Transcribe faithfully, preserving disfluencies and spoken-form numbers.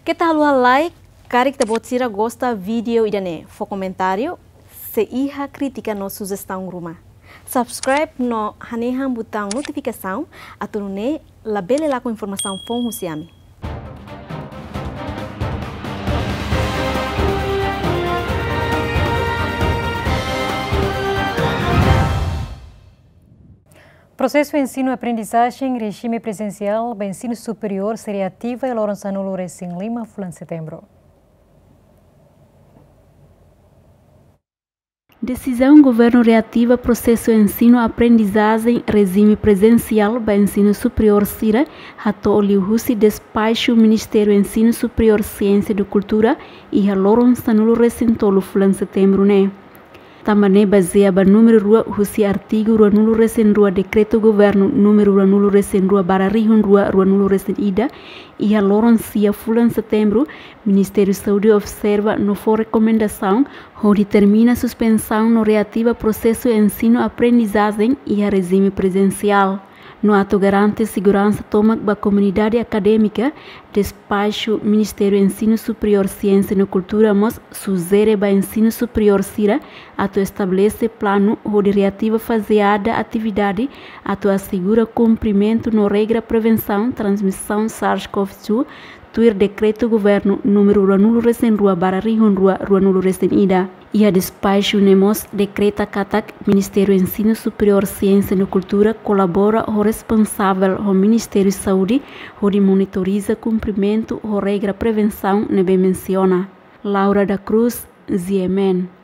Keta haluha like, karik ita-boot sira gosta vídeo ida-ne'e, fó komentáriu, se iha krítika no sujestaun ruma. Subscribe no hanehan butaun notifikasaun, atu nune'e labele lakon informasaun foun husi ami. Prosesu ensinu-aprendizajen rejime prezensiál ba ensinu superiór sei reativa iha loron sanulu-resin-lima fulan Setembru. Desizaun governu reativa prosesu ensinu-aprendizajen rejime prezensiál ba ensinu superiór sira hato'o liuhusi despaxu Ministériu Ensinu Superiór, Siénsia no Kultura iha loron sanulu-resin-tolu fulan Setembru ne'e. Tanba ne'e bazeia ba númeru rua husi artigu ruanulu-resin-rua Dekretu Governu númeru ruanulu-resin-rua barra rihun rua ruanulu-resin-ida, iha loron sia fulan Setembru, Ministériu Saúde observa no fó rekomendasaun hodi termina suspensaun no reativa prosesu ensinu-aprendizajen iha rejime prezensiál. No atu garante seguransa tomak ba komunidade akadémika, despaxu Ministériu Ensinu Superiór, Siénsia no Kultura mós sujere ba ensinu superiór sira atu estabelese planu hodi reativa fazeada atividade atu asegura kumprimentu no regra prevensaun transmisaun SARS-CoV dois, tuir Dekretu Governu númeru ruanulu-resin-rua barra rihun rua ruanulu-resin-ida. Iha despaxu ne'e mós dekreta katak Ministériu Ensinu Superiór, Siénsia no Kultura kolabora ho responsavel ho Ministériu Saúde hodi monitoriza kumprimentu ho regra prevensaun ne'ebé mensiona. Laura da Cruz, G M N.